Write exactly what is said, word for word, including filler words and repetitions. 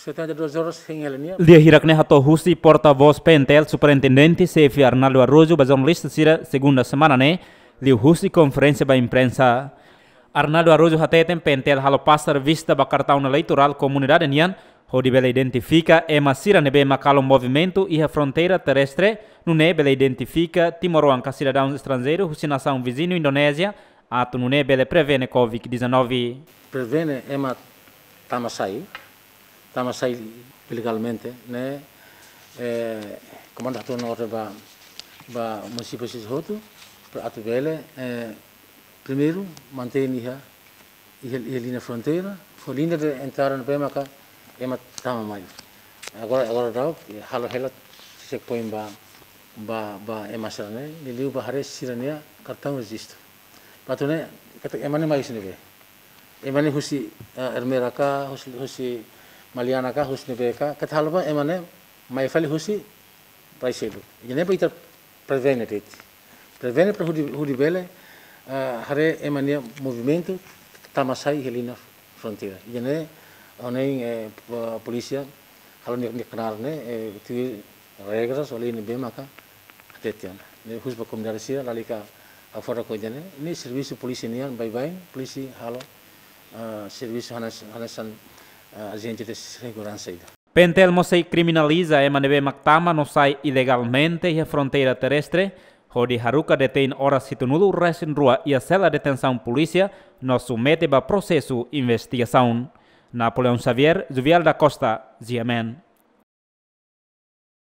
Setenta e duas horas hein hela nia. Lia hirak ne'e hato'o husi porta-voz P N T L Superintendente Xefe Arnaldo Araújo ba jornalista sira segunda semana ne'e, liuhusi konferénsia ba imprensa. Arnaldo Araújo hateten P N T L halo pasa revista ba kartaun eleitorál komunidade nian, hodi bele identifika ema sira ne'ebé mak halo movimentu iha fronteira terrestre, nune'e bele identifika timoroan ka sidadaun estranjeiru husi nasaun viziñu Indonézia, atu nune'e bele prevene covid dezanove. Prevene ema tama sai, tama sai ilegalmente, ne'e, eh, komandu hato'o ona orden ba, ba munisípiu sira hotu, para atu bele, eh, primeiru, mantein iha, iha, iha liña fronteira, fó liña de entrada ne'ebé maka ema tama mai. Agora, agora daudaun, eh, halo hela checkpoint ba, ba, ba ema sira-ne'e, liuliu ba haree sira-nia kartaun rejistu. Ba atu nune'e, katak ema ne'e mai husi ne'ebé. Ema ne'e husi, eh, Ermera ka, husi, husi Maliana ka, husi ne'ebé ka, katak halo ba ema ne'e mai fali husi rai seluk. Ida-ne'e ba ita prevene de'it. Prevene para hodi, hodi bele, eh, haree ema nia movimentu tama sai iha liña fronteira. Ida-ne'e, ohin, eh, po-, polísia, halo nia, nia knaar ne'e, eh, tuir regras ou lei ne'ebé maka hatete ona. Ne'e husu ba komunidade sira, lalika hafodak ho ida-ne'e, ne'e servisu polísia nian, baibain, polísia halo, eh, servisu hanesan, hanesan, eh, ajente de seguransa ida. P N T L mós sei kriminaliza ema ne'ebé mak tama no sai ilegalmente iha fronteira terrestre, hodi haruka detein oras hitunulu resin rua iha sela detensaun polísia, no submete ba prosesu investigasaun. Napoleão Xavier, Juvial da Costa, G M N.